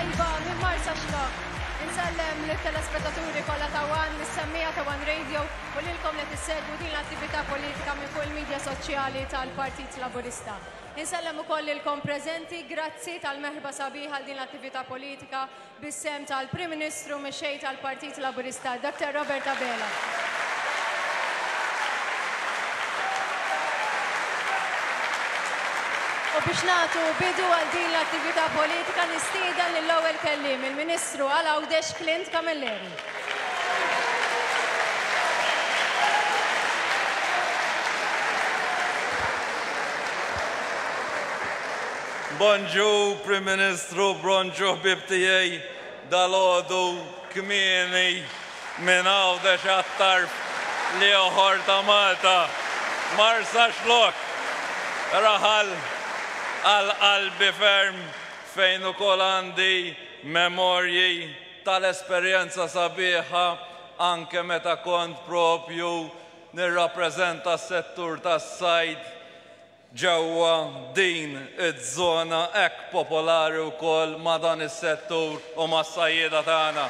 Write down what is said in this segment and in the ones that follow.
tajba minn Marsaxlokk. Insellem lit-telespettaturi kollha ta' One, lis-semmiegħa ta' One Radio u lilkom li qed issegwu din l-attività politika minn fuq il-midja soċjali tal-Partit Laburista. Insellem ukoll lilkom preżenti, grazzi tal-merħba sabiħa għal din l-attività politika bis-sehem tal-Prim Ministru Mexxej tal-Partit Laburista, Dr. Robert Abela. U biex nagħtu bidu għal din l-attività politika nistieden lill-ewwel kelliem, il-Ministru għal Għawdex Clint Camilleri. Bonġu Prim Ministru, bronġu ħbieb tiegħi, dalgħodu kmieni minn Għawdex għat-tarf l-ieħor ta' Malta. Marsaxlokk, raħal għal qalbi ferm fejn ukoll għandi memorji tal-esperjenza sabiħa anke meta kont propju nirrappreżenta s-settur tas-sajd ġewwa din iż-żona hekk popolari wkoll ma' dan is-settur u mas-sajjieda tagħna.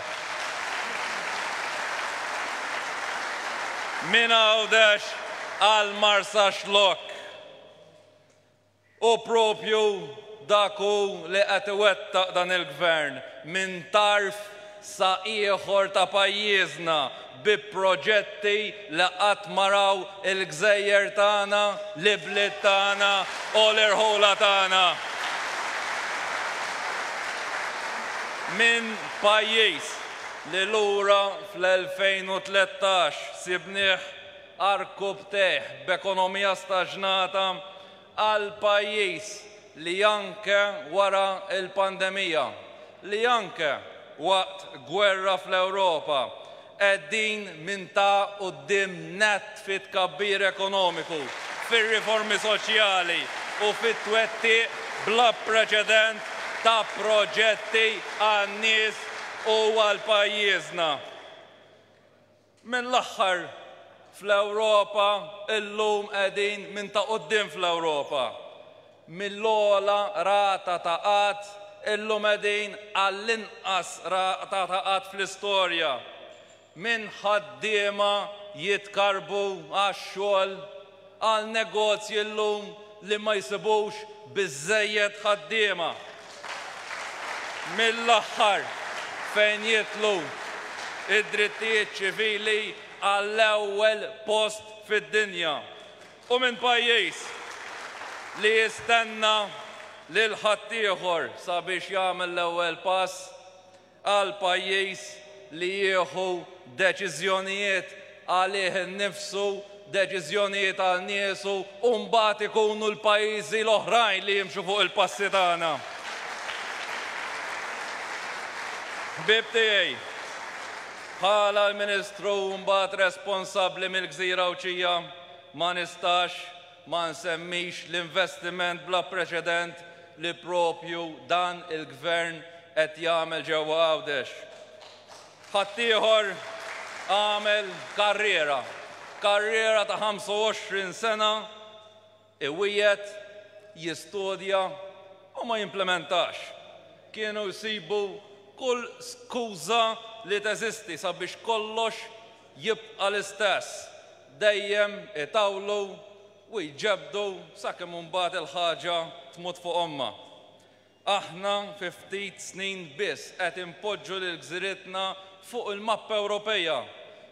Minn Għawdex għal Marsaxlokk. U proprju dak hu li qed iwettaq dan il-Gvern minn tarf sa ieħor ta' pajjiżna bi proġetti li qatt ma raw il-gżejjer tagħna, l-ibliet tagħna u l-irħula tagħna. Minn pajjiż li lura fl-2013 sibnieh għarkupptejh b'ekonomija staġnata għal pajjiż li anke wara l-pandemija, li anke waqt gwerra fl-Ewropa, qegħdin minn ta' quddiem nett fit-tkabbir ekonomiku, fir-riformi soċjali u fit-twettiq bla preċedent ta' proġetti għan-nies u għal pajjiżna. Minn l-aħħar fl-Ewropa illum qegħdin minn ta' quddiem fl-Ewropa. Mill-ogħla rata ta' qgħad illum qegħdin għall-inqas rata ta' qgħad fl-istorja. Minn ħaddiema jitkarrbu għax-xogħol għal negozji llum li ma jsibux biżżejjed ħaddiema. Mill-aħħar fejn jidħlu d-drittijiet ċivili għall-ewwel post fid-dinja u minn pajjiż li jistenna lil ħaddieħor sabiex jagħmel l-ewwel pass għal pajjiż li jieħu deċiżjonijiet għalih innifsu, deċiżjonijiet għal niesu u mbagħad ikunu l-pajjiżi l-oħrajn li jimxu fuq il-passi tagħna. Ħbieb tiegħi, bħala l-Ministru mbagħad responsabbli mill-gżira Għawdxija ma nistax ma nsemmix l-investiment bla preċedent li proprju dan il-Gvern qed jagħmel ġewwa Għawdex. Ħaddieħor għamel karriera, karriera ta' 25 sena iwiegħed, jistudja u ma jimplementax. Kienu jsibu kull skuża li teżisti sabiex kollox jibqa' l-istess, dejjem itawlu u jġebbdu sakemm imbagħad il-ħaġa tmut fuq ommha. Aħna fi ftit snin biss qed inpoġġu lil gżiritna fuq il-mappa Ewropeja,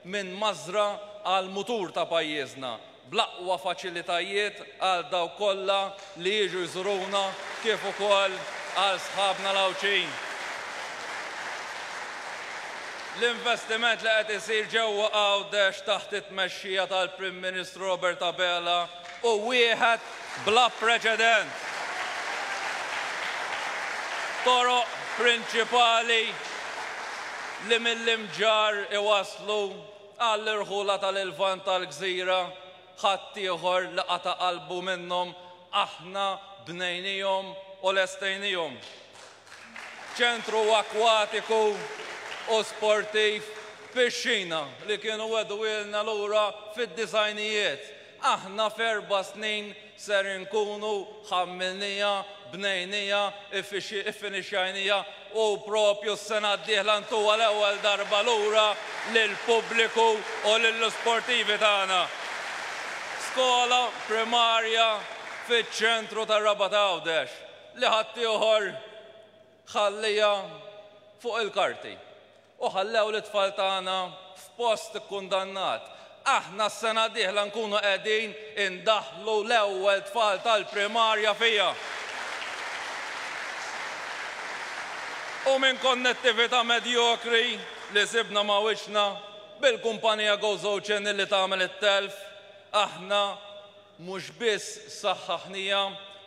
minn mażra għal mutur ta' pajjiżna, bl-aqwa faċilitajiet għal dawk kollha li jiġu jżuruna kif ukoll għal sħabna l-Għawdxin. L-investiment li qed isir ġewwa Għawdex taħt it-tmexxija tal-Prim Ministru Robert Abela hu wieħed bla preċedent. Toroq prinċipali li mill-Imġarr iwasslu għall-irħula tal-Lvant tal-gżira, ħaddieħor li qata' qalbu minnhom, aħna bnejnihom u lestejnihom. Ċentru akkwatiku u sportiv, pixxina li kienu wegħduhielna lura fid-disgħinijiet. Aħna f'erba' snin ser inkunu ħammilniha, bnejniha, iffinixxajniha. u propju s-sena d-dieħla ntuha l-ewwel darba lura lill-pubbliku u lill-isportivi tagħna. Skola primarja fiċ-ċentru tar-Rabat Għawdex li ħaddieħor ħalliha fuq il-karti u ħallew lit-tfal tagħna f'post ikkundannat. Aħna s-sena d-dieħla nkunu qegħdin indaħħlu l-ewwel tfal tal-primarja fiha. U minn konnettività medjokri li sibna ma' wiċċna bil-kumpanija Gozo Channel li tagħmel it-telf, aħna Mhux biss saħħaħniha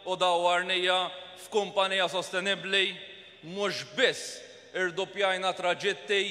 u dawwarniha f'kumpanija sostenibbli, mhux biss irduppjajna traġitti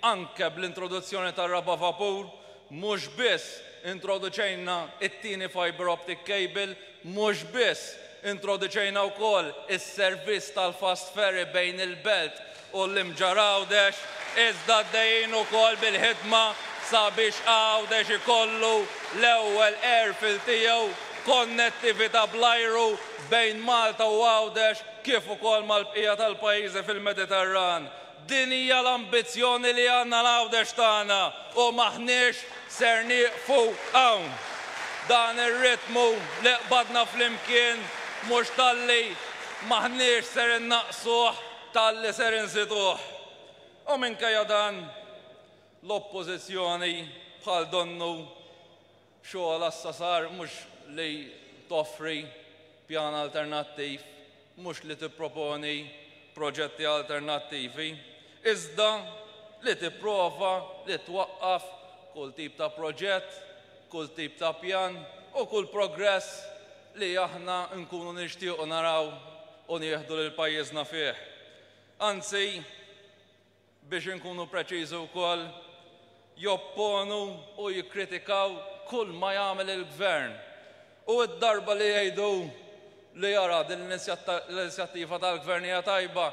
anke bl-introduzzjoni tar-raba' vapur, mhux biss introduċejna t-tieni fibre optic cable, mhux biss introduċejna wkoll is-servizz tal-fast ferry bejn il-Belt u l-Imġarr Għawdex, iżda għaddejjin ukoll bil-ħidma sabiex Għawdex ikollu l-ewwel airfield tiegħu, konnettività bl-ajru bejn Malta u Għawdex kif ukoll mal-bqija tal-pajjiżi fil-Mediterran. Din hija l-ambizzjoni li għandna għal Għawdex tagħna u m'aħniex ser nieqfu hawn. Dan ir-ritmu li qbadna flimkien mhux talli m'aħniex ser innaqqsuh talli ser inżiduh. U minkejja dan, l-Oppożizzjoni bħal donnu xogħolha issa sar mhux li toffri pjan alternattiv, mhux li tipproponi proġetti alternattivi, iżda li tipprova li twaqqaf kull tip ta' proġett, kull tip ta' pjan u kull progress li aħna nkunu nixtiequ naraw u nieħdu lil pajjiżna fih. Anzi, biex inkunu preċiżi wkoll, jopponu u jikkritikaw kull ma jagħmel il-Gvern. U d-darba li jgħidu li ara din l-inizjattiva tal-Gvern hija tajba,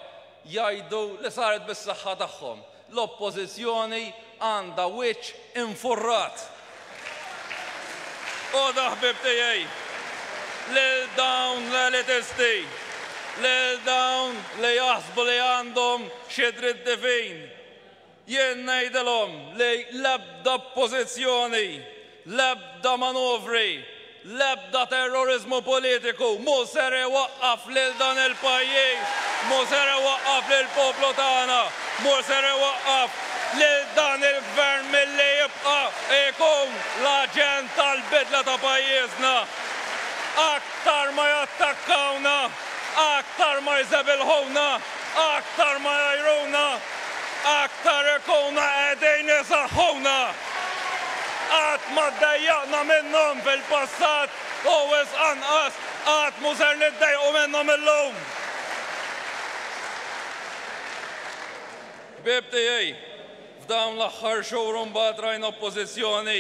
jgħidu li saret bis-saħħa tagħhom. L-Oppożizzjoni għandha wiċċ infurrat. U da ħbieb tiegħi, lil dawn l-elitisti, lil dawn li jaħsbu li għandhom xi dritt divin, Jien ngħidilhom li l-ebda oppożizzjoni, l-ebda manuvri, l-ebda terroriżmu politiku mhu ser iwaqqaf lil dan il-pajjiż, mhu ser iwaqqaf lill-poplu tagħna, mhu ser iwaqqaf lil dan il-Gvern milli jibqa' jkun l-aġent tal-bidla ta' pajjiżna. Aktar ma jattakkawna, aktar ma jżebilħuna, aktar ma jgħajruna, Aktar ikunu qegħdin isaħħuna. Qatt ma ddejjaqna minnhom fil-passat u wisq anqas qatt mhu ser niddejqu minnhom illum. Ħbieb tiegħi, f'dawn l-aħħar xhur imbagħad rajna oppożizzjoni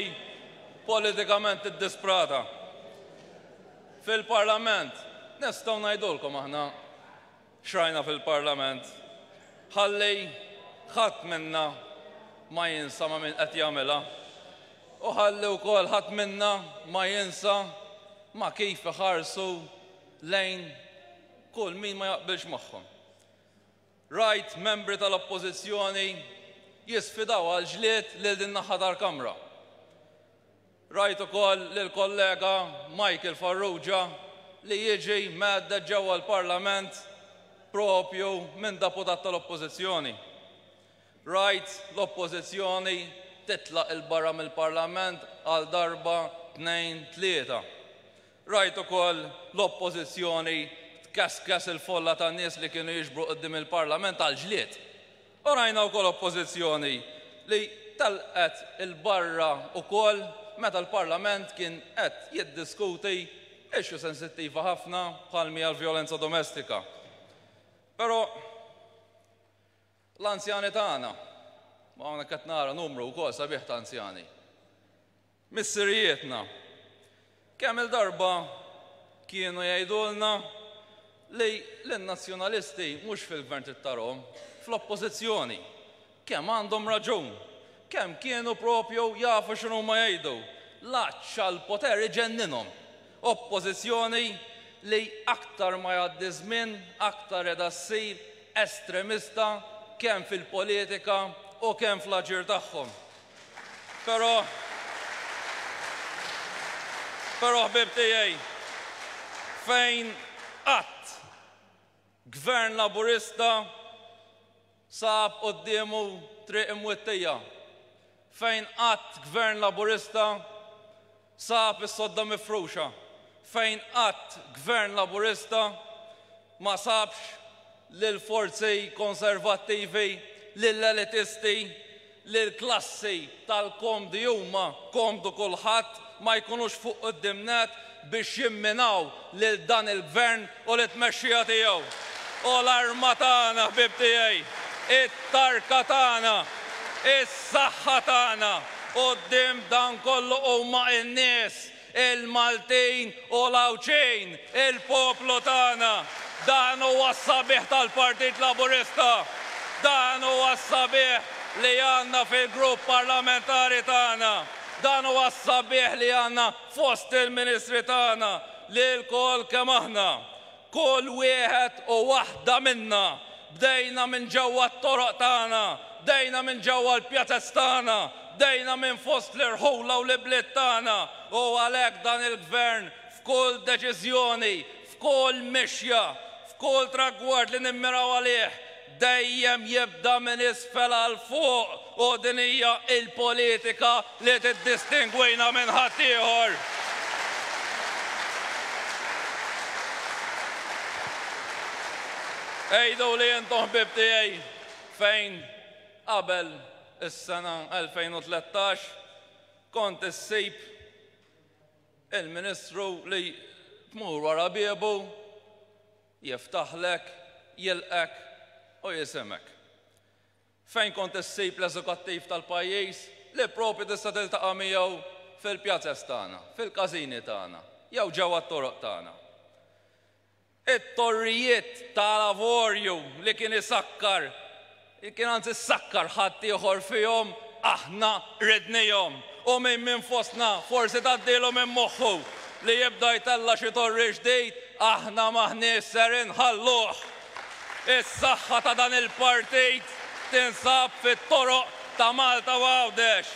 politikament iddisprata. Fil-Parlament nistgħu ngħidulkom aħna X'rajna fil-Parlament? Ħalli ħadd minna ma jinsa ma' min qed jagħmilha. U ħalli wkoll ħadd minna ma jinsa ma' kif iħarsu lejn kull min ma jaqbilx magħhom. Rajt membri tal-Oppożizzjoni jisfidaw għall-ġlied lil din naħa tal-Kamra. Rajt ukoll lill-kollega Michael Farrugia li jiġi mhedded ġewwa l-Parlament propju minn deputat tal-Oppożizzjoni. Rajt l-Oppożizzjoni titlaq 'il barra mill-Parlament għal darba, tnejn, tlieta. Rajt ukoll l-Oppożizzjoni tkeskes il-folla ta' nies li kienu jiġbru quddiem il-Parlament għall-ġlied. U rajna wkoll Oppożizzjoni li telqet 'il barra wkoll meta l-Parlament kien qed jiddiskuti issue sensittiva ħafna bħal m'hija l-vjolenza domestika. Però l-anzjani tagħna, u hawnhekk qed nara numru wkoll sabiħ ta' anzjani, Missirijietna kemm-il darba kienu jgħidulna li lin-Nazzjonalisti mhux fil-Gvern trid tarahom, fl-Oppożizzjoni. Kemm għandhom raġun! Kemm kienu propju jafu x'inhuma jgħidu! L-għatx għall-poter iġenninhom. Oppożizzjoni li aktar ma jgħaddi żmien aktar qiegħda ssir. estremista kemm fil-politika u kemm fl-aġir tagħhom. Però però ħbieb tiegħi, fejn qatt Gvern Laburista sab quddiemu triq imwittija, fejn qatt Gvern Laburista sab is-sodda mifruxa, fejn qatt Gvern Laburista ma sabx lill-forzi konservattivi, lill-elitisti, lill-klassi tal-komdi huma komdu kulħadd ma jkunux fuq quddiem nett biex jimminaw lil dan il-Gvern u lit-tmexxija tiegħu. U l-arma tagħna, ħbieb tiegħi, it-tarka tagħna, is-saħħa tagħna quddiem dan kollu huma n-nies, il-Maltin u l-Għawdxin, il-poplu tagħna. Dan huwa s-sabiħ tal-Partit Laburista. Dan huwa s-sabiħ li għandna fil-grupp parlamentari tagħna. Dan huwa s-sabiħ li għandna fost il-ministri tagħna li lkoll kemm aħna, kull wieħed u waħda minna, bdejna minn ġewwa t-toroq tagħna, bdejna minn ġewwa l-pjazez tagħna, bdejna minn fost l-irħula u l-ibliet tagħna u għalhekk dan il-Gvern f'kull deċiżjoni, f'kull mixja, f'kull tragward li nimmiraw għalih, dejjem jibda minn isfel għal fuq u din hija l-politika li tiddistingwina minn ħaddieħor. Għiduli intom ħbieb tiegħi fejn qabel is-sena 2013 kont issib il-Ministru li tmur wara biebu, jiftaħlek, jilqgħek u jisimgħek. Fejn kont issib l-eżekuttiv tal-pajjiż li proprju tista' tiltaqa' miegħu fil-pjazez tagħna, fil-każini tagħna, jew ġewwa t-toroq tagħna. It-torrijiet tal-avorju li kien isakkar, li kien anzi sakkar ħaddieħor fihom, aħna ridnihom. U min minn fostna forsi tgħaddilu minn moħħu li jibda jtella' xi torri ġdid, aħna m'aħniex ser inħalluh. Is-saħħa ta' dan il-partit tinsab fit-toroq ta' Malta u Għawdex.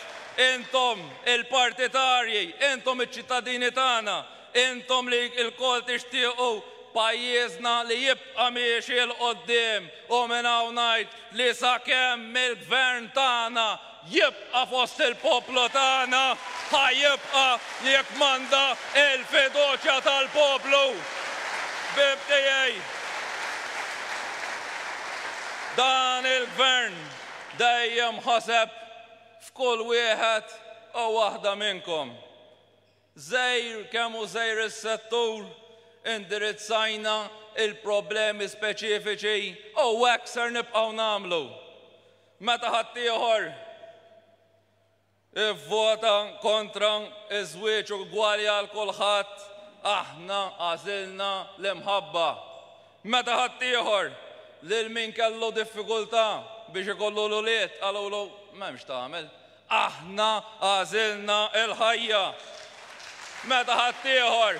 Intom il-partitarji, intom iċ-ċittadini tagħna, intom li lkoll tixtiequ pajjiżna li jibqa' miexi 'l quddiem u minn hawn ngħid li sakemm il-Gvern tagħna jibqa' fost il-poplu tagħna, ħa jibqa' jikkmanda l-fiduċja tal-poplu. Ħbieb tiegħi, dan il-Gvern dejjem ħaseb f'kull wieħed u waħda minnkom. Żgħir kemm hu żgħir is-settur, indirizzajna l-problemi speċifiċi u hekk ser nibqgħu nagħmlu. Meta ħaddieħor ivvota kontra ż-żwieġ ugwali għal kulħadd, aħna għażilna l-imħabba. Meta ħaddieħor lil min kellu diffikultà biex ikollu l-ulied qalulu m'hemmx tagħmel, Aħna għażilna l-ħajja. Meta ħaddieħor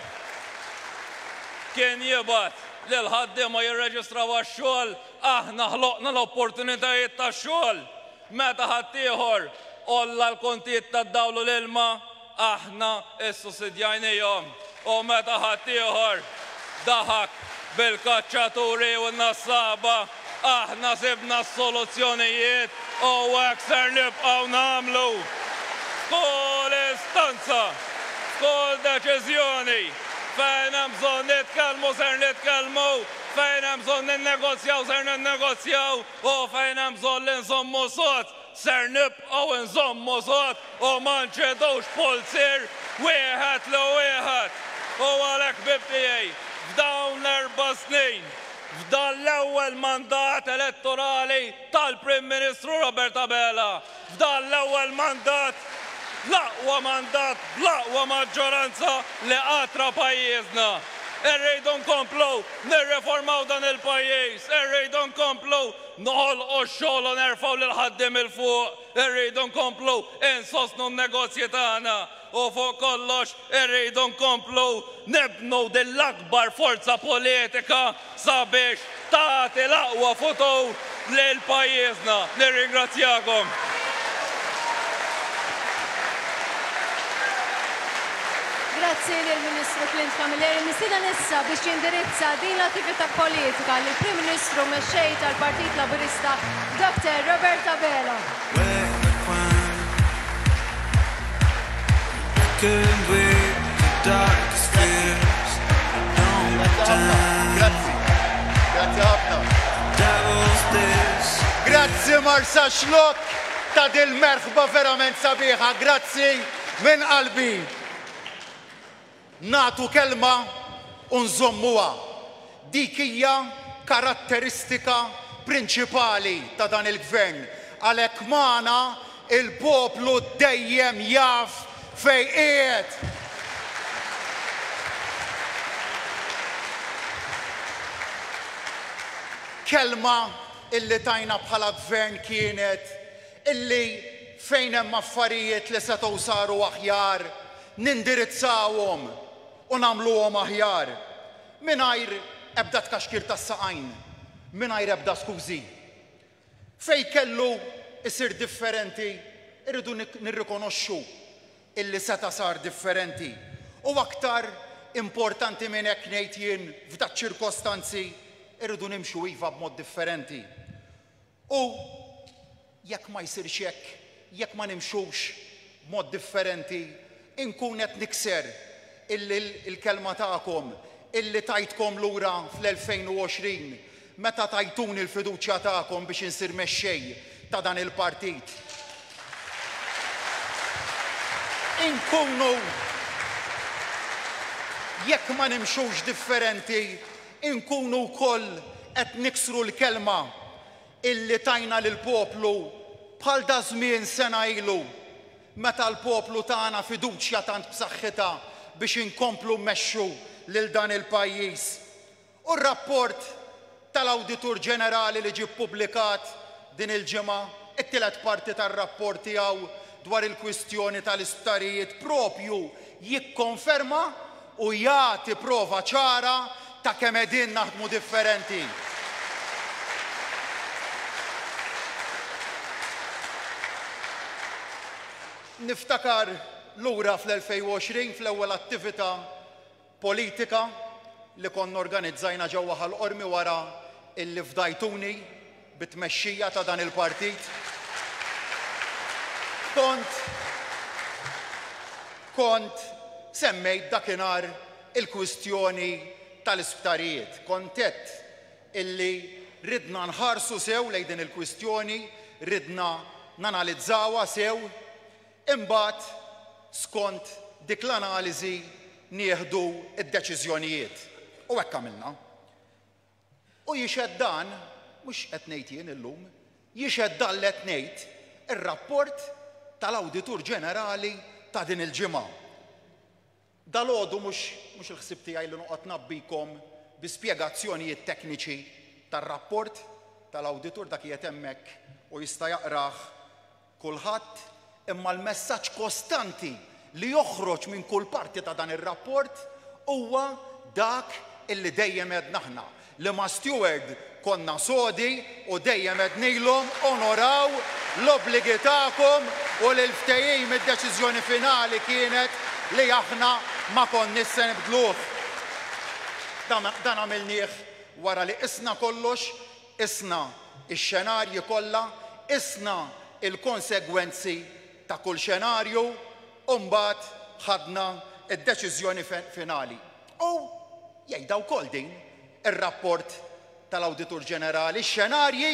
kien jibgħat lill-ħaddiema jirreġistraw għax-xogħol, aħna ħloqna l-opportunitajiet tax-xogħol. Meta ħaddieħor għolla l-kontijiet tad-dawl u l-ilma, aħna ssussidjajnihom. U meta ħaddieħor daħak bil-kaċċaturi u n-nassaba, aħna sibna s-soluzzjonijiet u hekk ser nibqgħu nagħmlu. F'kull istanza, f'kull deċiżjoni, fejn hemm bżonn nitkellmu ser nitkellmu, fejn hemm bżonn ninnegozjaw ser ninnegozjaw u fejn hemm bżonn li nżommu sod ser nibqgħu nżommu sod u ma nċedux pulzier wieħed 'l wieħed. U għalhekk ħbieb tiegħi, f'dawn l-erba' snin, f'dan l-ewwel mandat elettorali tal-Prim Ministru Robert Abela, f'dan l-ewwel mandat, l-aqwa mandat bl-aqwa maġġoranza li qatt ra pajjiżna. Irridu nkomplu nirriformaw dan il-pajjiż, irridu nkomplu noħolqu x-xogħol u nerfgħu lill-ħaddiem 'il fuq, irridu nkomplu insostnu n-negozji tagħna u fuq kollox irridu nkomplu nibnu din l-akbar forza politika sabiex tagħti l-aqwa futur lil pajjiżna. Nirringrazzjakom. Grazzi lill-Ministru Clint Camilleri. Nistieden issa biex jindirizza din l-attività politika lill-Prim Ministru Mexxej tal-Partit Laburista, Dr. Robert Abela. Grazzi. Grazzi ħafna. Grazzi Marsaxlokk ta' dil-merħba verament sabiħa. Grazzi minn qalbi. Nagħtu kelma u nżommuha. Dik hija karatteristika prinċipali ta' dan il-Gvern. Għalhekk magħna il-poplu dejjem jaf fejn qiegħed. Kelma illi tajna bħala Gvern kienet illi fejn hemm affarijiet li setgħu saru aħjar, nindirizzawhom u nagħmluhom aħjar. Mingħajr ebda tkaxkir tas-saqajn, mingħajr ebda skużi. Fejn kellu jsir differenti, irridu nirrikonoxxu illi seta' sar differenti. U aktar importanti minn hekk ngħid jien f'daċ-ċirkostanzi irridu nimxu iva b'mod differenti. U jekk ma jsirx hekk, jekk ma nimxux b'mod differenti, inkun qed nikser il-kelma tagħkom illi tajtkom lura fl-2020 meta tajtuni l-fiduċja tagħkom biex insir mexxej ta' dan il-partit. Inkunu jekk ma nimxux differenti, inkunu wkoll qed niksru l-kelma illi tajna lill-poplu bħal daż-żmien sena ilu meta l-poplu tana fiduċja tant b'saħħitha biex inkomplu mmexxu lil dan il-pajjiż. U r-rapport tal-Awditur Ġenerali li ġie ppubblikat din il-ġimgħa, it-tielet parti tar-rapport tiegħu dwar il-kwistjoni tal-isptarijiet proprju jikkonferma u jagħti prova ċara ta' kemm qegħdin naħdmu differenti. Niftakar lura fl-2020 fl-ewwel attività politika li konna organizzajna ġewwa Ħal Qormi wara illi fdajtuni bit-tmexxija ta' dan il-partit. Kont kont semmejt dakinhar il-kwistjoni tal-isptarijiet. Kont għedt illi ridna nħarsu sew lejn din il-kwistjoni, ridna nanalizzawha sew, imbagħad skont dik l-analiżi nieħdu d-deċiżjonijiet. U hekk għamilna. U jixhed dan, mhux qed ngħid jien illum, jixhed dan li qed ngħid ir-rapport tal-Awditur Ġenerali ta' din il-ġimgħa. Dalgħodu mhux mhux il-ħsieb tiegħi li noqgħod ngħabbikom bi spjegazzjonijiet tekniċi tar-rapport tal-Awditur, dak qiegħed hemmhekk u jista' jaqrah kulħadd, imma l-messaġġ kostanti li joħroġ minn kull parti ta' dan ir-rapport huwa dak illi dejjem għedna aħna, li ma' Steward konna sodi u dejjem għednilhom onoraw l-obbligi tagħkom u li l-ftehim id-deċiżjoni finali kienet li aħna ma konniex se nibdluh. Dan għamilnieh wara li qisna kollox, Qisna x-xenarji kollha, qisna l-konsegwenzi ta' kull xenarju u mbagħad ħadna d-deċiżjoni finali. U jgħidha wkoll din ir-rapport tal-Awditur Ġenerali, x-xenarji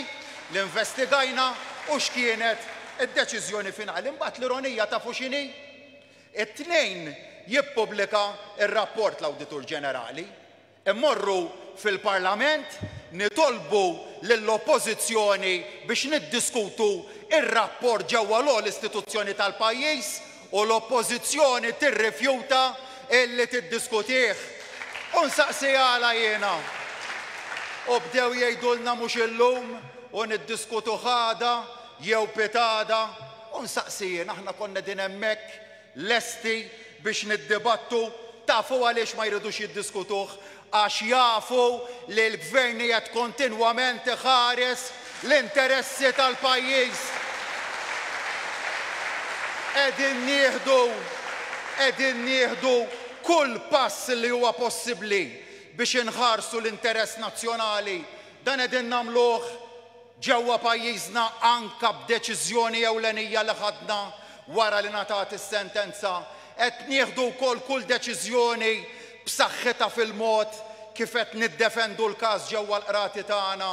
li investigajna u x'kienet id-deċiżjoni finali. Imbagħad l-ironija tafu x'inhi? It-Tnejn jippubblika r-rapport l-Awditur Ġenerali. Immorru fil-Parlament nitolbu lill-Oppożizzjoni biex niddiskutu r-rapport ġewwa l-ogħla istituzzjoni tal-pajjiż u l-Oppożizzjoni tirrifjuta illi tiddiskutih. U nsaqsi għala jiena. U bdew jgħidulna mhux illum u niddiskutuh għada jew pitgħada. U nsaqsi jien aħna konna qegħdin hemmhekk Lesti biex niddibattu? Tafu għaliex ma jridux jiddiskutuh? għax jafu li l-Gvern qiegħed kontinwament iħares l-interessi tal-pajjiż. Qegħdin nieħdu qegħdin nieħdu kull pass li huwa possibbli biex inħarsu l-interess nazzjonali. Dan qegħdin nagħmluh ġewwa pajjiżna anke b'deċiżjoni ewlenija li ħadna wara li ngħatat is-sentenza. Qed nieħdu wkoll kull deċiżjoni b'saħħitha fil-mod kif qed niddefendu l-każ ġewwa l-qrati tagħna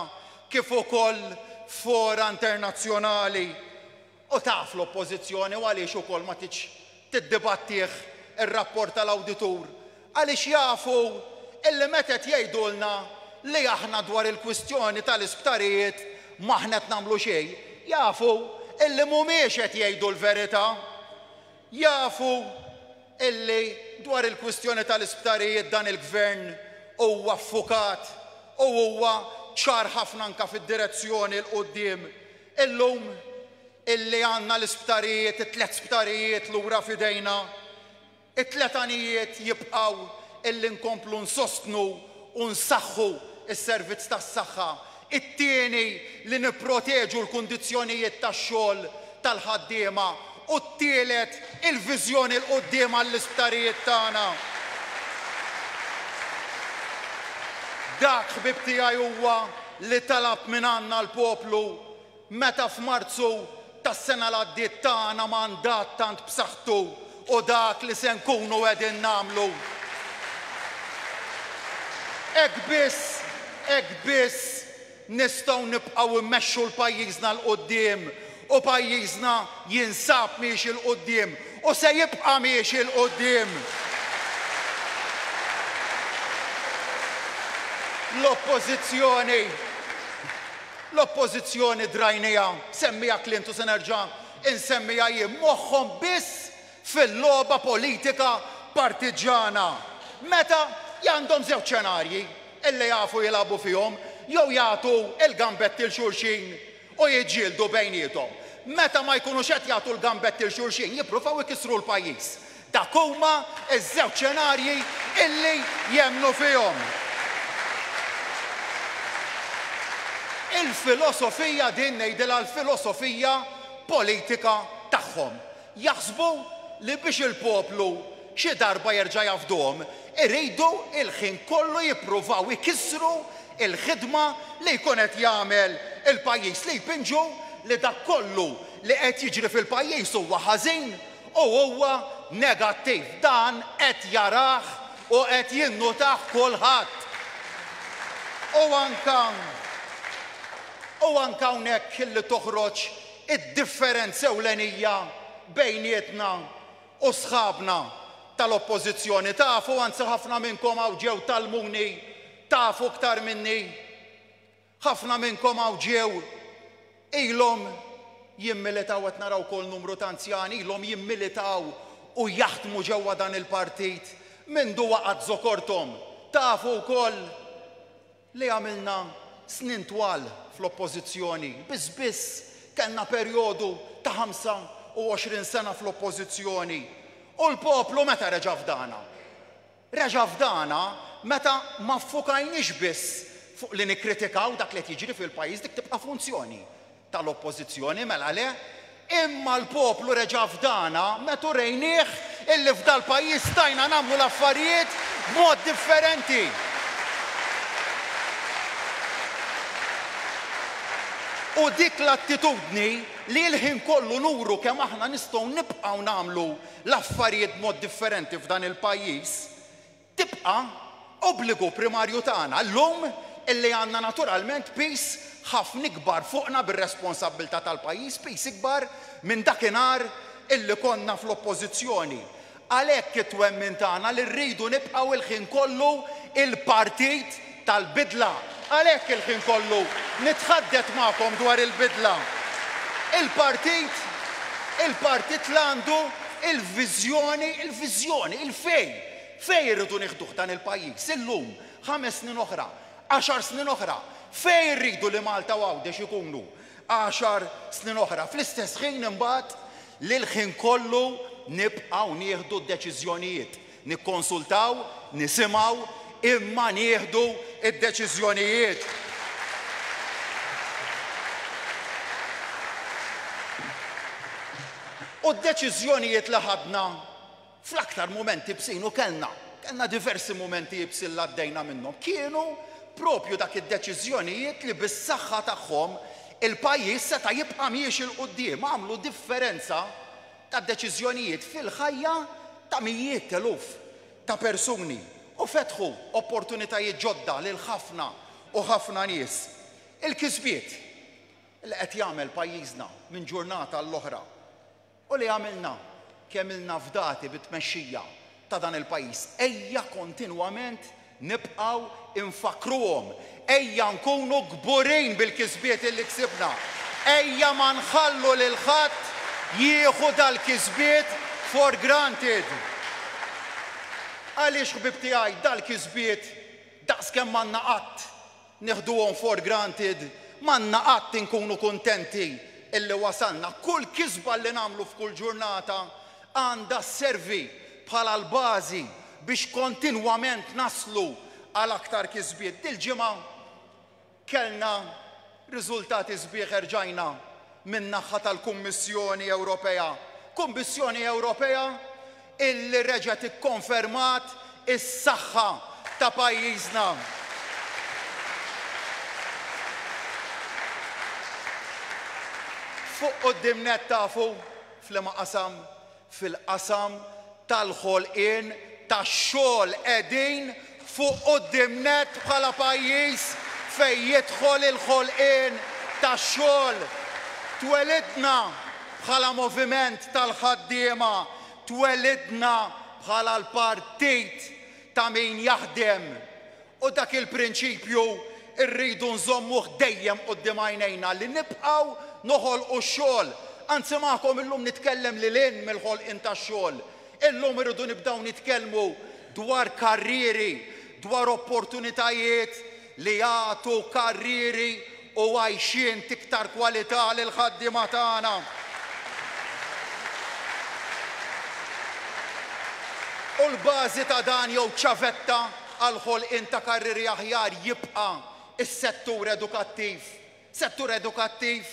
kif ukoll f'fora internazzjonali. U taf l-Oppożizzjoni u għaliex ukoll ma tridx tiddibattih ir-rapport tal-awditur? Għaliex jafu illi meta qed jgħidulna li aħna dwar il-kwistjoni tal-isptarijiet m'aħna qed nagħmlu xejn, jafu illi mhumiex qed jgħidu l-verità. Jafu illi dwar il-kwistjoni tal-isptarijiet dan il-Gvern huwa ffukat u huwa ċar ħafna anke fid-direzzjoni 'l quddiem. Illum illi għandna l-isptarijiet, it-tlett sptarijiet lura f'idejna, it-tlett għanijiet jibqgħu illi nkomplu nsostnu u nsaħħu s-servizz tas-saħħa, it-tieni li nipproteġu l-kundizzjonijiet tax-xogħol tal-ħaddiema u t-tielet il-viżjoni 'l quddiem għall-isptarijiet tagħna. Dak, ħbieb tiegħi, huwa li talab mingħandna l-poplu meta f'Marzu tas-sena l-għaddiet tana mandat tant b'saħħtu u dak li se nkunu qegħdin nagħmlu. Hekk biss, hekk biss nistgħu nibqgħu mmexxu 'l pajjiżna 'l quddiem u pajjiżna jinsab miexi 'l quddiem u se jibqa' miexi 'l quddiem. L-Oppożizzjoni, l-Oppożizzjoni drajniha, semmiha Clint u se nerġa' insemmiha jien, moħħhom biss fil-logħba politika partiġġana. Meta għandhom żewġ xenarji illi jafu jilagħbu fihom, jew jagħtu l-gambetti 'l xulxin u jiġġieldu bejniethom. Meta ma jkunux qed jagħtu l-gambetti 'l xulxin jippruvaw ikissru l-pajjiż. Dak huma ż-żewġ xenarji illi jemmnu fihom. Il-filosofija din ngħidilha l-filosofija politika tagħhom. Jaħsbu li biex il-poplu xi darba jerġa' jafdhom, iridu l-ħin kollu jippruvaw ikissru l-ħidma li jkun qed jagħmel il-pajjiż, li jpinġu li dak kollu li qed jiġri fil-pajjiż huwa ħażin u huwa negattiv. Dan qed jarah u qed jinnutah kulħadd. U anke u anke hawnhekk li toħroġ id-differenza ewlenija bejnietna u sħabna tal-Oppożizzjoni. Tafu, anzi ħafna minnkom hawn ġew tgħallmuni, tafu iktar minni. Ħafna minnkom hawn ġew ilhom jimmilitaw, qed nara wkoll numru ta' anzjani ilhom jimmilitaw u jaħdmu ġewwa dan il-partit mindu waqgħet żokorthom. Tafu wkoll li għamilna snin twal fl-Oppożizzjoni, biss biss kellna perjodu ta' 25 sena fl-Oppożizzjoni. U l-poplu meta reġa' fdana? Reġa' fdana meta ma ffukajniex biss fuq li nikkritikaw dak li qed jiġri fil-pajjiż, dik tibqa' funzjoni tal-Oppożizzjoni, mela le, imma l-poplu reġa' fdana meta urejnieh illi f'dal-pajjiż stajna nagħmlu l-affarijiet b'mod differenti. U dik l-attitudni li l-ħin kollu nuru kemm aħna nistgħu nibqgħu nagħmlu l-affarijiet b'mod differenti f'dan il-pajjiż, tibqa' obbligu primarju tagħna llum illi għandna naturalment piż ħafna ikbar fuqna bir-responsabbiltà tal-pajjiż, piż ikbar minn dakinhar illi konna fl-Oppożizzjoni. Għalhekk it-twemmin tagħna li rridu nibqgħu l-ħin kollu il-partit tal-bidla. Għalhekk il-ħin kollu nitħaddet magħkom dwar il-bidla. Il-partit, il-partit l-għandu il-viżjoni, il-viżjoni, il-fejn, fejn irridu nieħduh dan il-pajjiż illum, ħames snin oħra, għaxar snin oħra, fejn irridu li Malta u Għawdex ikunu għaxar snin oħra. Fl-istess ħin imbagħad li l-ħin kollu nibqgħu nieħdu d-deċiżjonijiet. Nikkonsultaw, nisimgħu, imma nieħdu d-deċiżjonijiet. U d-deċiżjonijiet li ħadna fl-aktar mumenti ibsin u kellna, kellna diversi mumenti ibsin li għaddejna minnhom, kienu propju dak id-deċiżjonijiet li bis-saħħa tagħhom il-pajjiż seta' jibqa' miexi 'l quddiem, għamlu differenza ta' deċiżjonijiet fil-ħajja ta' mijiet t'eluf ta' persuni u fetħu opportunitajiet ġodda lil ħafna u ħafna nies. Il-kisbiet li qed jagħmel pajjiżna minn ġurnata għall-oħra u li għamilna kemm ilna fdati bit-tmexxija ta' dan il-pajjiż, ejja kontinwament nibqgħu nfakkruhom, ejja nkunu kburin bil-kisbiet illi ksibna, ejja ma nħallu lil ħadd jieħu dal-kisbiet for granted. Għaliex ħbieb tiegħi dal-kisbiet daqskemm m'għandna qatt Neħduhom for granted, m'għandna qatt inkunu kuntenti illi wasalna. Kull kisba li nagħmlu f'kull ġurnata għandha sservi bħala l-bażi biex kontinwament naslu għal aktar kisbiet. Dil-ġimgħa kellna riżultati sbieħ erġajna min-naħa tal-Kummissjoni Ewropea. Kummissjoni Ewropea illi reġgħet ikkonfermat is-saħħa ta' pajjiżna. Fuq quddiem nett tafu f'liema qasam? Fil-qasam tal-ħolqien tax-xogħol qegħdin fuq quddiem nett bħala pajjiż fejn jidħol il-ħolqien tax-xogħol. Twelidna bħala moviment tal-ħaddiema, twelidna bħala l-partit ta' min jaħdem u dak il-prinċipju rridu nżommuh dejjem quddiem għajnejna li nibqgħu noħolqu x-xogħol. Anzi magħkom illum nitkellem lil hinn mill-ħolqien tax-xogħol. Illum irridu nibdew nitkellmu dwar karrieri, dwar opportunitajiet li jagħtu karrieri u għajxien t'iktar kwalità lill-ħaddiema tagħna. U l-bażi ta' dan jew ċavetta għall-ħolqien ta' karrieri aħjar jibqa' s-settur edukattiv. Settur edukattiv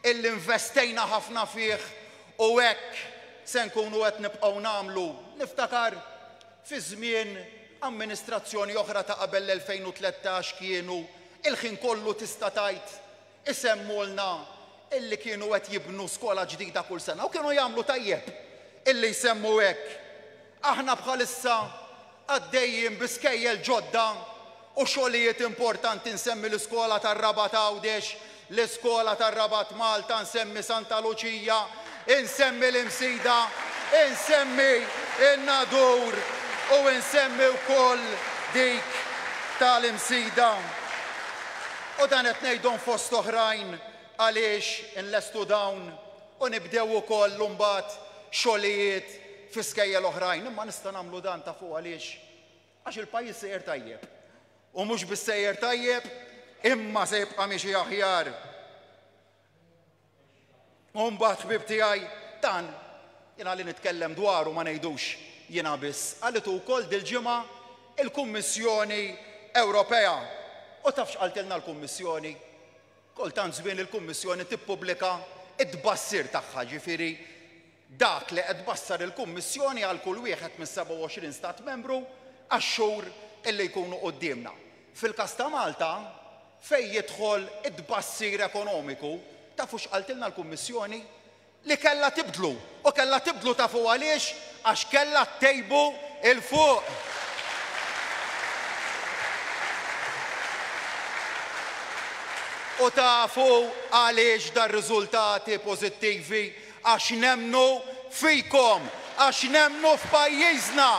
illi investejna ħafna fih u hekk se nkunu qed nibqgħu nagħmlu. Niftakar fi żmien amministrazzjoni oħra ta' qabel l-2013 kienu il-ħin kollu tista' tgħid isemmulna illi kienu qed jibnu skola ġdida kull sena u kienu jagħmlu tajjeb illi jsemmu hekk. Aħna bħalissa għaddejjin bi skejjel ġodda u xogħlijiet importanti nsemmi l-iskola tar-Rabat Għawdex, l-iskola tar-Rabat Malta, nsemmi Santa Luċija, insemmi l-Imsida, insemmi n-Nadur u insemmi wkoll dik tal-Imsida. U dan qed ngħidhom fost oħrajn għaliex inlestu dawn u nibdew ukoll imbagħad xogħlijiet fi skejjel oħrajn. Imma nista' nagħmlu dan tafu għaliex? Għax il-pajjiż sejjer tajjeb. U mhux biss sejjer tajjeb, imma se jibqa' miexi aħjar. U mbagħad ħbieb tiegħi, dan jiena li nitkellem dwaru ma ngħidux jiena biss, qalitu wkoll dil-ġimgħa il-Kummissjoni Ewropea. U taf x'qaltilna l-Kummissjoni? Kultant żmien il-Kummissjoni tippubblika t-tbassir tagħha, ġifieri dak li qed tbassar il-Kummissjoni għal kull wieħed mis-27 Stat Membru għax-xhur li jkunu quddiemna. Fil-każ ta' Malta, fejn jidħol it-tbassir ekonomiku, tafu x'qaltilna l-Kummissjoni? Li kellha tibdlu. U kellha tibdlu tafu għaliex? Għax kellha ttejbu 'l fuq. U tafu għaliex dar-riżultati pożittivi? Għax nemmnu fikom, għax nemmnu f'pajjiżna,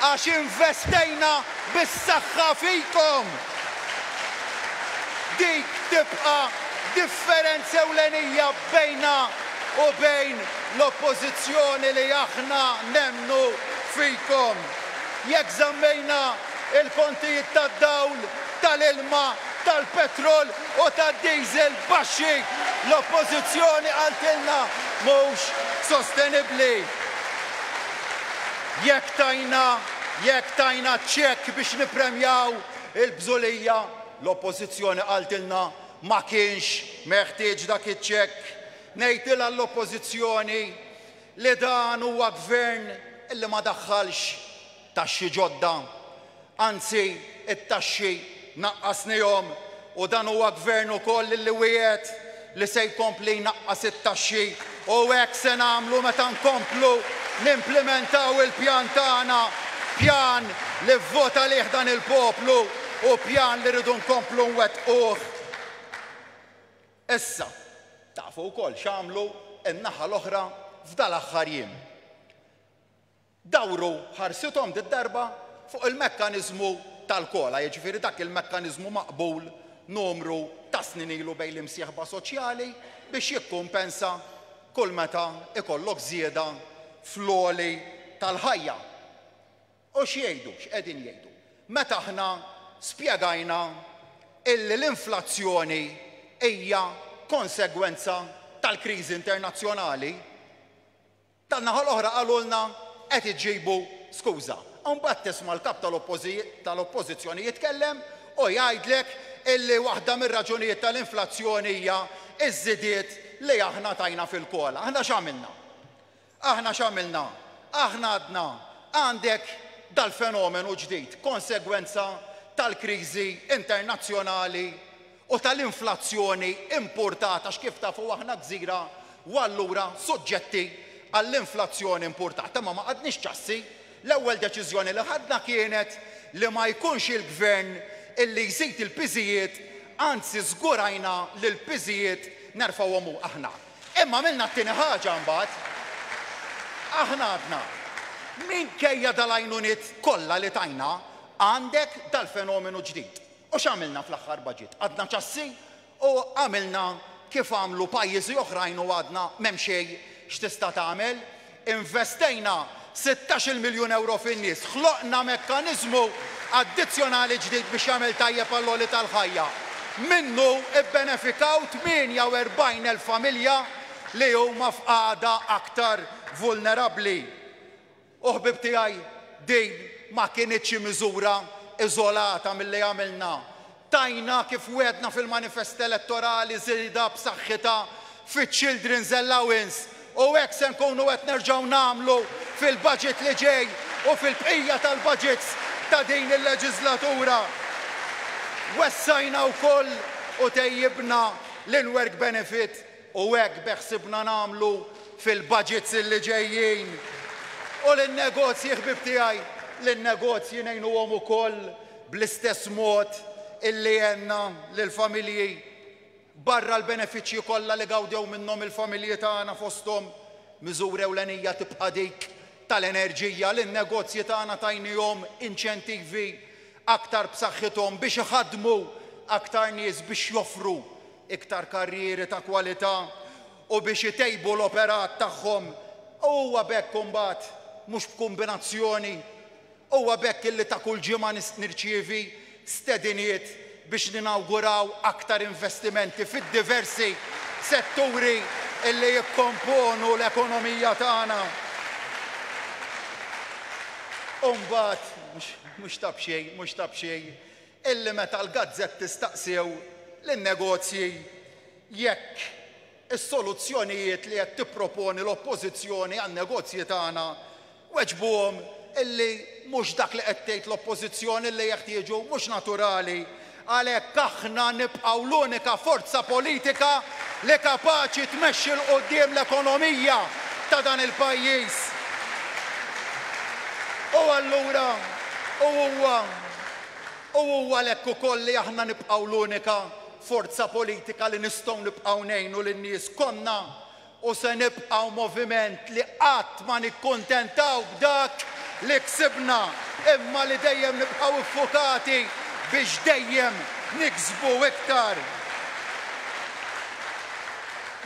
għax investejna bis-saħħa fikom. Dik tibqa' differenza ewlenija bejnna u bejn l-Oppożizzjoni li aħna nemmnu fikom. Jekk żammejna l-kontijiet tad-dawl, tal-ilma, tal-petrol u tad-diesel baxxi, l-Oppożizzjoni qaltilna mhux sostenibbli. Jekk tajna. Jekk tajna ċekk biex nippremjaw il-bżulija, l-Oppożizzjoni qaltilna ma kienx meħtieġ dak iċ-ċekk. Ngħidilha l-Oppożizzjoni li dan huwa gvern li ma daħħalx taxxi ġodda. Anzi, it-taxxi naqqasnihom u dan huwa gvern ukoll li wiegħed li se jkompli jnaqqas it-taxxi u hekk se nagħmlu meta nkomplu nimplimentaw il-pjan tagħna, pjan li vvota għalih dan il-poplu u pjan li rridu nkomplu nwettquh. Issa, tafu wkoll x'għamlu n-naħa l-oħra f'dal-aħħar jiem. Dawru ħarsithom did-darba fuq il-mekkaniżmu tal-COLA, jiġifieri dak il-mekkaniżmu maqbul numru ta' snin ilu bejn l-imsieħba soċjali biex jikkumpensa kull meta jkollok żieda fl-għoli tal-ħajja. U x'jgħidu, x'qegħdin jgħidu? Meta aħna spjegajna illi l-inflazzjoni hija konsegwenza tal-kriżi internazzjonali, Tan-naħa l-oħra qalulna qed iġibu skuża. Imbagħad tisma' l-Kap tal-Oppożizzjoni jitkellem u jgħidlek illi waħda mir-raġunijiet tal-inflazzjoni hija ż-żidiet li aħna tajna fil-COLA. Aħna x'għamilna? Aħna x'għamilna? Aħna għadna għandek dal-fenomenu ġdid, konsegwenza tal-kriżi internazzjonali u tal-inflazzjoni impurtata għax kif tafu aħna gżira u allura suġġetti għall-inflazzjoni impurtata. Imma ma qgħadniex ċassi. L-ewwel deċiżjoni li ħadna kienet li ma jkunx il-Gvern illi jżid il-piżijiet, anzi żgurajna li l-piżijiet nerfgħuhom aħna. Imma għamilna t-tieni ħaġa mbagħad. Aħna għadna, minkejja dal-għajnuniet kollha li tajna, għandek dal-fenomenu ġdid. U x'għamilna fl-aħħar budget? Qgħadna ċassi u għamilna kif għamlu pajjiżi oħrajn u għadna m'hemm xejn x'tista' tagħmel. Investejna sittax-il miljun ewro fin-nies, ħloqna mekkaniżmu addizzjonali ġdid biex jagħmel tajjeb għall-għoli tal-ħajja. Minnu bbenefikaw 48,000 familja li huma f'qagħda aktar vulnerabbli. U ħbieb tiegħi, din ma kinitx xi miżura iżolata milli għamilna. Tajna kif wegħdna fil-manifest elettorali żieda b'saħħitha fiċ-Children's Allowance u hekk se nkunu qed nerġgħu nagħmlu fil-budget li ġej u fil-bqija tal-budgets ta' din il-leġiżlatura. Wessajna wkoll u tejjibna l-in-work benefit U hekk beħsibna nagħmlu fil-budgets illi ġejjin. U lin-negozji, ħbieb tiegħi, lin-negozji ngħinuhom ukoll bl-istess mod illi għenna lill-familji. Barra l-benefiċċji kollha li gawdew minnhom il-familji tagħna fosthom miżura ewlenija tibqa' dik tal-enerġija, lin-negozji tagħna tajnihom inċentivi aktar b'saħħithom biex iħaddmu aktar nies biex joffru iktar karrieri ta' kwalità u biex itejbu l-operat tagħhom. U huwa b'hekk imbagħad, mhux b'kumbinazzjoni, huwa b'hekk illi ta' kull ġimgħa nirċievi stediniet biex ninawguraw aktar investimenti fid-diversi setturi illi jikkomponu l-ekonomija tagħna. U mbagħad, mhux ta' b'xejn, mhux ta' b'xejn, illi meta l-gazzetti staqsew lin-negozji jekk is-soluzzjonijiet li qed tipproponi l-Oppożizzjoni għan-negozji tagħna, weġbuhom illi mhux dak li qed tgħid l-Oppożizzjoni li jeħtieġu mhux naturali. Għalhekk aħna nibqgħu l-unika forza politika li kapaċi tmexxi 'l quddiem l-ekonomija ta' dan il-pajjiż. U allura, u huwa, U huwa għalhekk ukoll li aħna nibqgħu l-unika forza politika li nistgħu nibqgħu ngħinu lin-nies. Konna u se nibqgħu moviment li qatt ma nikkuntentaw b'dak li ksibna imma li dejjem nibqgħu ffukati biex dejjem niksbu iktar.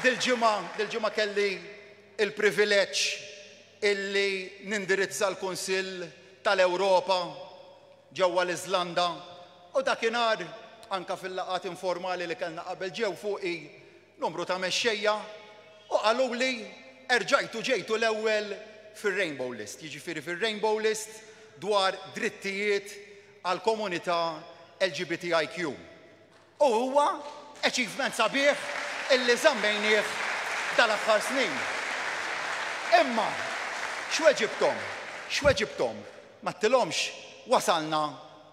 Dil-ġimgħa, dil-ġimgħa kelli l-privileġġ illi nindirizza l-Kunsill tal-Ewropa ġewwa l-Iżlanda u dakinhar, anke fil-laqgħat informali li kellna qabel ġew fuqi numru ta' mexxejja u qaluli erġajtu ġejtu l-ewwel fir-Rainbow List. Jiġifieri fir-Rainbow List dwar drittijiet għall-komunità LGBTIQ. U huwa achievement sabiħ illi żammejnieh dal-aħħar snin. Imma x'weġibthom? X'weġibthom? M'għedtilhomx wasalna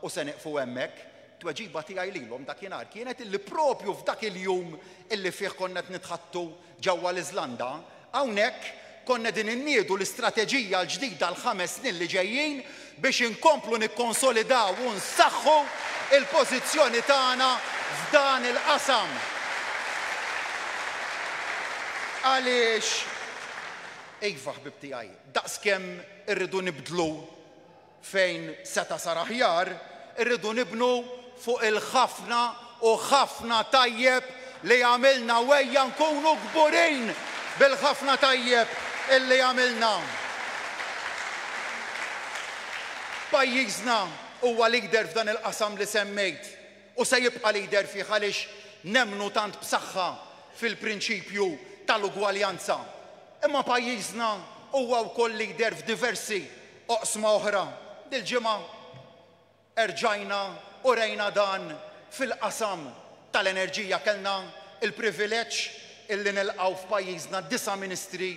u se nieqfu hemmhekk. Tweġiba tiegħi lilhom dakinhar kienet illi propju f'dak il-jum illi fih konna qed nitħaddtu ġewwa l-Iżlanda, hawnhekk konna qegħdin inniedu l-istrateġija l-ġdida għall-ħames snin li ġejjin biex inkomplu nikkonsolidaw u nsaħħu l-pożizzjoni tagħna f'dan il-qasam. Għaliex, iva ħbieb tiegħi, daqskemm irridu nibdlu Fejn seta' sar aħjar, irridu nibnu fuq il-ħafna u ħafna tajjeb li għamilna u ejja nkunu kburin bil-ħafna tajjeb illi għamilna. Pajjiżna huwa leader f'dan il-qasam li semmejt u se jibqa' leader fih għaliex nemmnu tant b'saħħa fil-prinċipju tal-ugwaljanza. Imma pajjiżna huwa wkoll leader f'diversi oqsma oħra. Dil-ġimgħa erġajna urejna dan fil-qasam tal-enerġija. Kellna l-privileġġ illi nilqgħu f'pajjiżna disa' ministri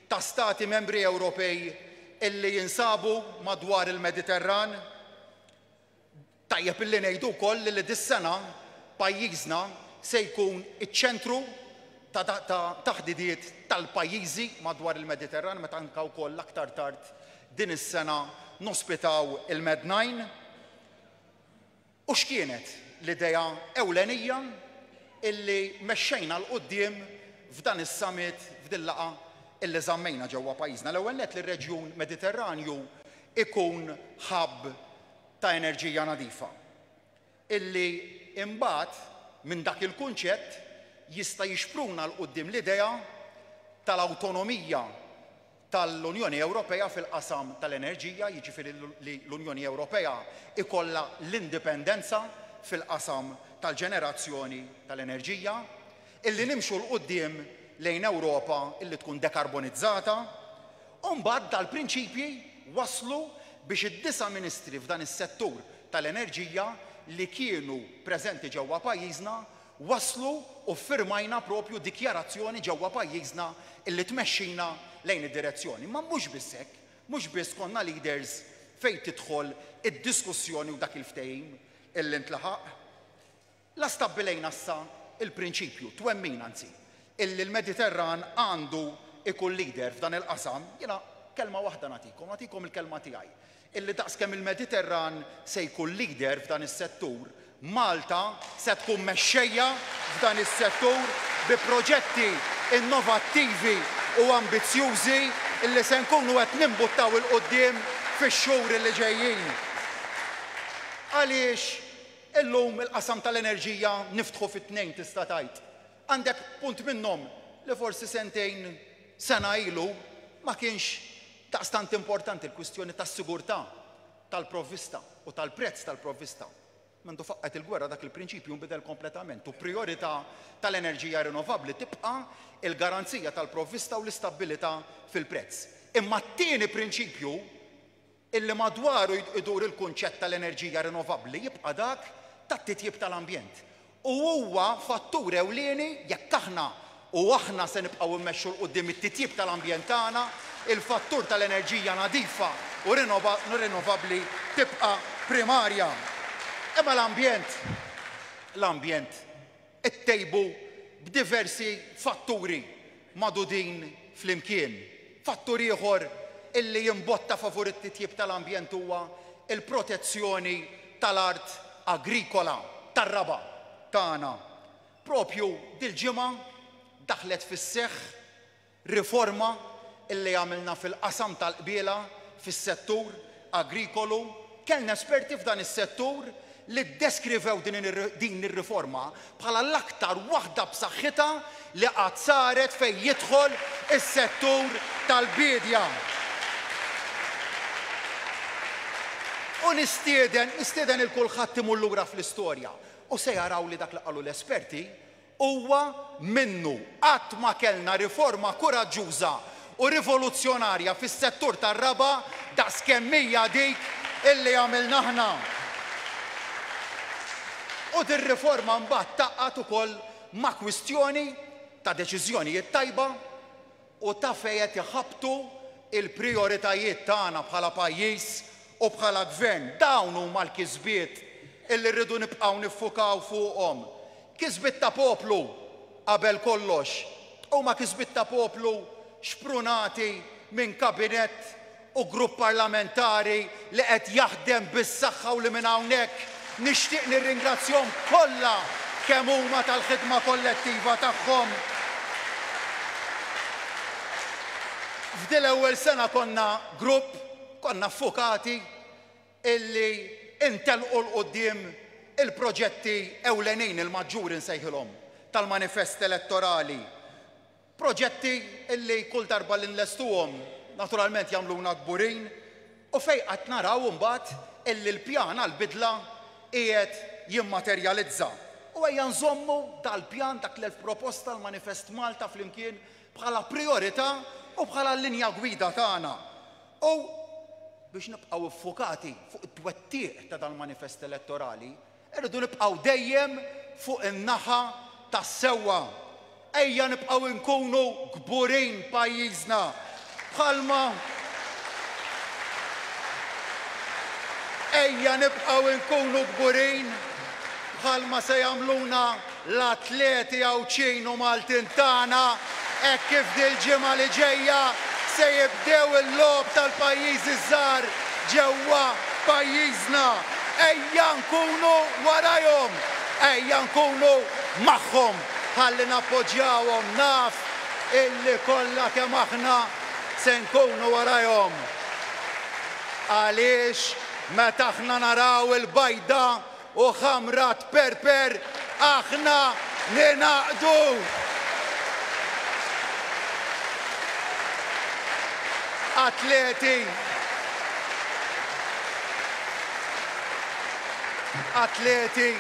ta' stati membri Ewropej illi jinsabu madwar il-Mediterran. Tajjeb illi ngħidu wkoll li dis-sena pajjiżna se jkun iċ-ċentru ta' ta' taħdidiet tal-pajjiżi madwar il-Mediterran meta anke wkoll aktar tard din is-sena nospitaw il-Med Nine. U x'kienet l-idea ewlenija illi mexxejna 'l quddiem f'dan is-summit, f'dil-laqgħa illi żammejna ġewwa pajjiżna? L-ewwel nett li r-reġjun Mediterranju ikun hub ta' enerġija nadifa, illi imbagħad minn dak il-kunċett jista' jixpruna 'l quddiem l-idea tal-awtonomija tal-Unjoni Ewropea fil-qasam tal-enerġija, jiġifieri li l-Unjoni Ewropea jkollha l-indipendenza fil-qasam tal-ġenerazzjoni tal-enerġija, illi nimxu 'l quddiem lejn Ewropa illi tkun dekarbonizzata. U mbagħad dal-prinċipji wasslu biex id-disa' ministri f'dan is-settur tal-enerġija li kienu preżenti ġewwa pajjiżna waslu u ffirmajna propju dikjarazzjoni ġewwa pajjiżna illi tmexxina lejn id-direzzjoni. Imma mhux biss hekk, mhux biss konna leaders fejn tidħol id-diskussjoni u dak il-ftehim illi ntlaħaq. La stabbilejna issa l-prinċipju, twemmin anzi, illi l-Mediterran għandu jkun leader f'dan il-qasam, jiena kelma waħda nagħtikom, nagħtikom il-kelma tiegħi, illi daqskemm il-Mediterran se jkun leader f'dan is-settur, Malta se tkun mexxejja f'dan is-settur bi proġetti innovattivi u ambizzjużi illi se nkunu qed nimbuttaw 'il quddiem fix-xhur illi ġejjin. Għaliex Illum il-qasam tal-enerġija niftħu fi tnejn tista' tgħid. Għandek punt minnhom li forsi sentejn, sena ilu ma kienx daqstant importanti, l-kwistjoni tas-sigurtà tal-provvista u tal-prezz tal-provvista. Mindu faqqgħet il-gwerra dak il-prinċipju nbidel kompletament u prijorità tal-enerġija rinnovabbli tibqa' l-garanzija tal-provvista u l-istabbilità fil-prezz. Imma t-tieni prinċipju illi madwaru jdur il-kunċett tal-enerġija rinnovabbli jibqa' dak tat-titjib tal-ambjent. U huwa fattur ewlieni jekk aħna, u aħna se nibqgħu mmexxu 'l quddiem it-titjib tal-ambjent tagħna, il-fattur tal-enerġija nadifa u rinnovabbli tibqa' primarja. Imma l-ambjent, l-ambjent ittejbu b'diversi fatturi magħdudin flimkien. Fattur ieħor illi jimbotta favur it-titjib tal-ambjent huwa l-protezzjoni tal-art agrikola, tar-raba' tagħna. Proprju dil-ġimgħa daħlet fis-seħħ Riforma illi għamilna fil-qasam tal-qbiela fis-settur agrikolu. Kellna esperti f'dan is-settur li ddeskrivew din ir-riforma bħala l-aktar waħda b'saħħitha li qatt saret fejn jidħol is-settur tal-biedja. U nistieden, nistieden 'il kulħadd imur lura fl-istorja u se jaraw li dak li qalu l-esperti Huwa minnu, qatt ma kellna riforma kuraġġuża u rivoluzzjonarja fis-settur tar-raba' daqs kemm hija dik illi għamilna aħna. U dir-riforma mbagħad tgħaqqad ukoll ma' kwistjoni ta' deċiżjonijiet tajba u ta' fejn qed iħabbtu l-prijoritajiet tagħna bħala pajjiż u bħala gvern. Dawn huma l-kisbiet illi rridu nibqgħu niffukaw fuqhom. Kisbiet ta' poplu qabel kollox. Huma kisbiet ta' poplu xprunati minn kabinett u grupp parlamentari li qed jaħdem bis-saħħa u li minn hawnhekk nixtieq nirringrazzjahom kollha kemm huma tal-ħidma kollettiva tagħhom. F'din l-ewwel sena konna grupp, konna ffukati illi ntellqu 'l quddiem il-proġetti ewlenin, il-maġġuri nsejħilhom, tal-manifest elettorali. Proġetti li kull darba li nlestuhom naturalment jagħmluna kburin u fejn qed naraw imbagħad illi l-pjan għall-bidla qiegħed jimmaterjalizza. U ejja nżommu dal-pjan, dak l-1000 proposta, l-Manifest Malta flimkien bħala prijorità u bħala l-linja gwida tagħna. U biex nibqgħu ffukati fuq it-twettiq ta' dal-manifest elettorali, Irridu nibqgħu dejjem fuq in-naħa tas-sewwa. Ejja nibqgħu nkunu kburin b'pajjiżna bħalma Ejja nibqgħu nkunu kburin bħalma se jagħmluna l-atleti Għawdxin u Maltin tagħna hekk kif dil-ġimgħa li ġejja se jibdew il-Logħob tal-Pajjiżi ż-Żgħar ġewwa pajjiżna. Ejja nkunu warajhom! Ejja nkunu magħhom ħalli nappoġġjawhom. Naf illi kollha kemm aħna se nkunu warajhom. Għaliex meta aħna naraw il-bajda u ħamra tperper aħna ningħaqdu! Atleti Atleti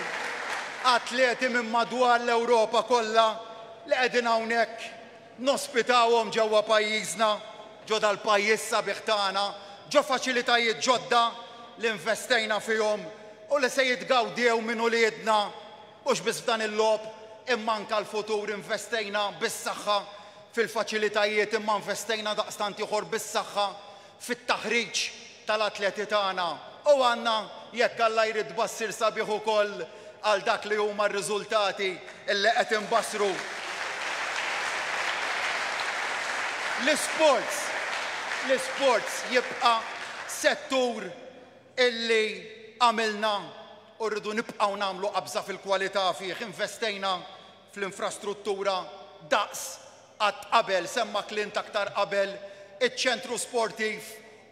Atleti minn madwar l-Ewropa kollha li qegħdin hawnhekk nospitawhom ġewwa pajjiżna, ġo dal-pajjiż sabiħ tagħna, ġo faċilitajiet ġodda li investejna fihom u li se jitgawdew minn uliedna mhux biss f'dan il-logħob imma anke għall-futur. Investejna bis-saħħa fil-faċilitajiet imma investejna daqstant ieħor bis-saħħa fit-taħriġ tal-atleti tagħna u għandna, jekk Alla jrid, tbassir sabiħ ukoll għal dak li huma r-riżultati li qed inbassru. L-isports, l-isports jibqa' settur illi għamilna u rridu nibqgħu nagħmlu qabża fil-kwalità fih. Investejna fl-infrastruttura daqs qatt qabel, semma Clint aktar qabel, iċ-ċentru sportiv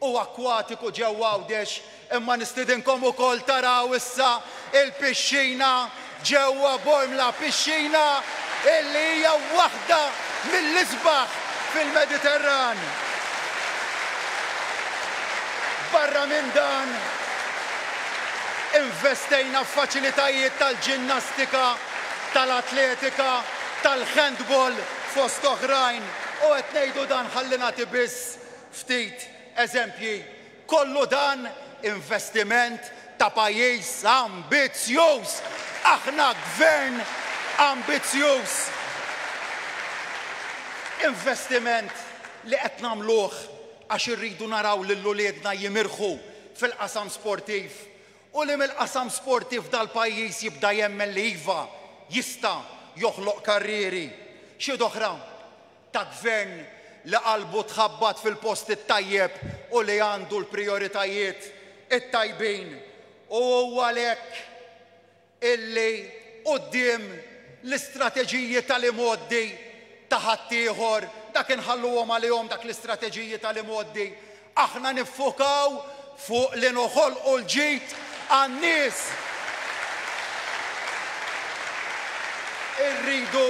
u akkwatiku ġewwa Għawdex, imma nistidinkom ukoll taraw issa il-pixxina ġewwa Bormla, pixxina illi hija waħda mill-isbaħ fil-Mediterran. Barra minn dan, investejna f'faċilitajiet tal-ġinnastika, tal-atletika, tal-handball fost oħrajn u qed ngħidu dan ħalli nagħti biss ftit eżempji. Kollu dan investiment ta' pajjiż ambizzjuż! Aħna gvern ambizzjuż! Investiment li qed nagħmluh għax irridu naraw lil uliedna jimirħu fil-qasam sportiv u li mill-qasam sportiv dal-pajjiż jibda jemmen li iva, jista' joħloq karrieri. Xhieda oħra ta' gvern li qalbu tħabbat fil-post it-tajjeb u li għandu l-prijoritajiet it-tajbin u huwa għalhekk illi quddiem l-istrateġiji tal-imgħoddi ta' ħaddieħor, dak inħalluhom għalihom dak l-istrateġiji tal-imgħoddi, aħna niffukaw fuq li noħolqu l-ġid għan-nies. Irridu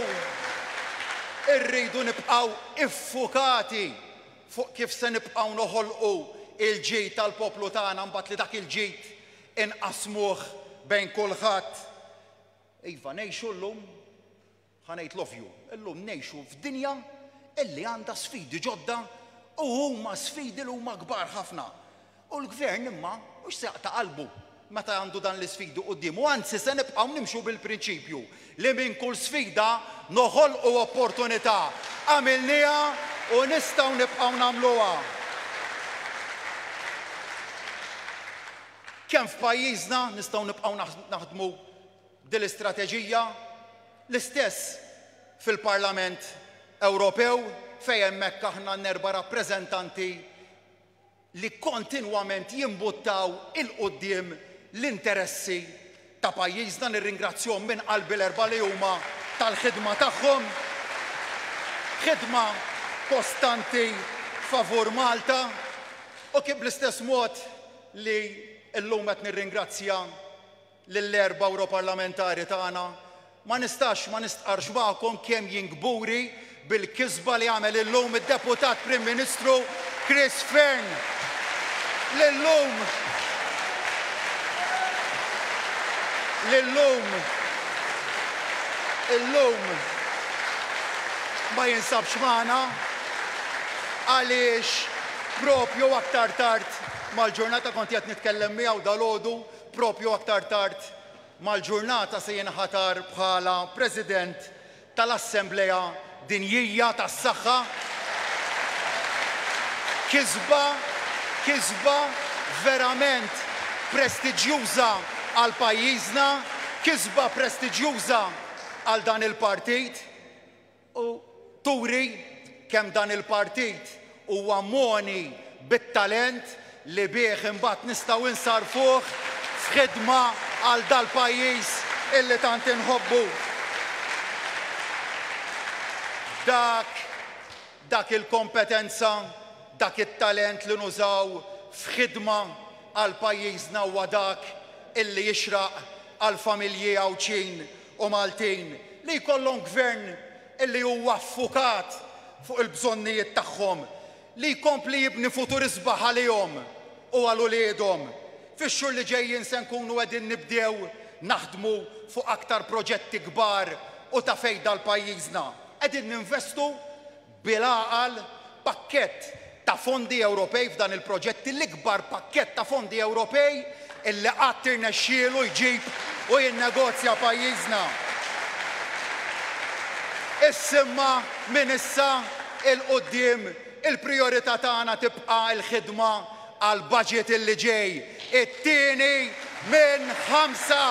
irridu nibqgħu iffukati fuq kif se nibqgħu noħolqu l-ġid għall-poplu tagħna mbagħad li dak il-ġid inqassmuh bejn kulħadd. Iva, ngħixu llum, ħa ngħid l-ovvju, illum ngħixu f'dinja illi għandha sfidi ġodda u huma sfidi li huma kbar ħafna. U l-Gvern imma mhux se jaqta' qalbu meta għandu dan l-isfidi quddiemu, anzi se nibqgħu nimxu bil-prinċipju li minn kull sfida noħolqu opportunità. Għamilniha u nistgħu nibqgħu nagħmluha. Kemm f'pajjiżna nistgħu nibqgħu naħdmu b'din l-istrateġija, l-istess fil-Parlament Ewropew fejn hemmhekk aħna għandna erba' rappreżentanti li kontinwament jimbuttaw 'il quddiem l-interessi ta' pajjiżna. Nirringrazzjahom minn qalbi l-erbgħa li huma tal-ħidma tagħhom, ħidma kostanti favur Malta u kif bl-istess mod li llum qed nirringrazzja lill-erba' Ewroparlamentari tagħna, ma nistax ma nistqarrx magħkom kemm jien kburi bil-kisba li għamel illum id-Deputat Prim Ministru Chris Fearne li llum li llum illum ma jinsabx magħna għaliex propju aktar tard mal-ġurnata kont qiegħed nitkellem miegħu dalgħodu Proprju aktar tard mal-ġurnata se jinħatar bħala President tal-Assemblea Dinjija tas-Saħħa. Kisba, kisba verament prestiġjuża għal pajjiżna, kisba prestiġjuża għal dan il-partit. U turi kemm dan il-partit huwa mogħni bit-talent li bih imbagħad nistgħu nsarrfuh f'ħidma għal dal-pajjiż illi tant inħobbu. Dak, dak il-kompetenza, dak it-talent li nużaw f'ħidma għal pajjiżna huwa dak illi jixraq għall-familji Għawdxin u Maltin li jkollhom gvern li huwa ffukat fuq il-bżonnijiet tagħhom, li jkompli jibni futur isbaħ għalihom u għal uliedhom. Fix-xhur li ġejjin se nkunu qegħdin nibdew naħdmu fuq aktar proġetti kbar u ta' fejda għal pajjiżna. Qegħdin ninvestu bil-għaqal pakkett ta' fondi Ewropej f'dan il-proġetti, l-ikbar pakkett ta' fondi Ewropej illi qatt irnexxielu jġib u jinnegozja pajjiżna. Issimma minn issa 'l quddiem il-prijorità tagħna tibqa' l-ħidma għall-budget illi ġej, it-tieni minn ħamsa!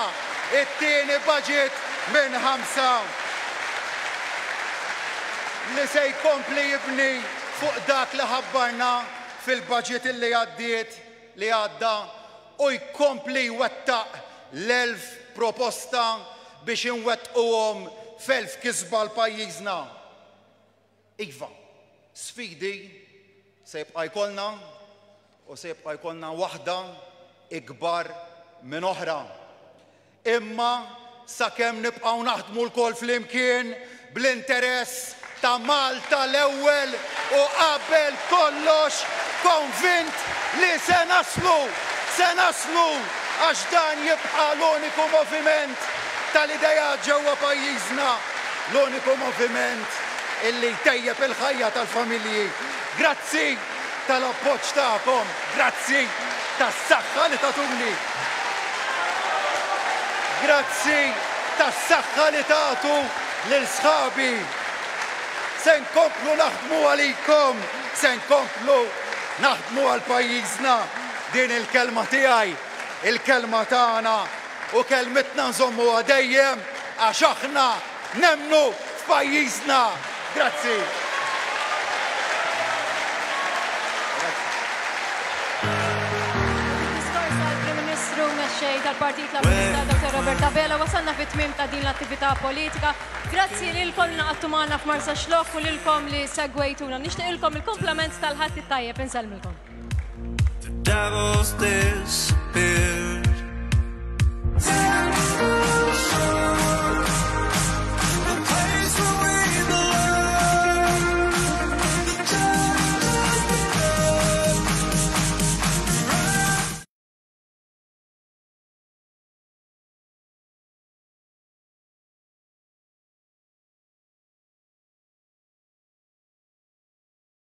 It-tieni budget minn ħamsa li se jkompli jibni fuq dak li ħabbarna fil-budget illi għaddiet, li għadda u jkompli jwettaq l-1000 proposta biex inwettquhom f'elf kisba għal pajjiżna. Iva, sfidi se jibqa' jkollna u se jibqa' jkollna waħda ikbar minn oħra. Imma sakemm nibqgħu naħdmu lkoll flimkien bl-interess ta' Malta l-ewwel u qabel kollox konvint li se naslu, se naslu għax dan jibqa' l-uniku moviment tal-ideat ġewwa pajjiżna, l-uniku moviment illi jtejjeb il-ħajja tal-familji. Grazzi tal-appoġġ tagħkom, grazzi tas-saħħa li tagħtuni. Grazzi tas-saħħa li tagħtu lil sħabi. Se nkomplu naħdmu għalikom, se nkomplu naħdmu għal pajjiżna. Din il-kelma tiegħi, il-kelma tagħna u kelmitna nżommuha dejjem għax aħna nemmnu f'pajjiżna. Grazzi. Diskors tal-Prim Ministru Mexxej tal-Partit Laburista Dr. Robert Abela wasalna fit-tmiem ta' din l-attività politika. Grazzi lilkom li naqadtu magħna f'Marsaxlokk u lilkom li segwejtuna. Nixtieqilkom il-kumplament tal-Ħadd it-tajjeb insellmilkom. The devils disappear.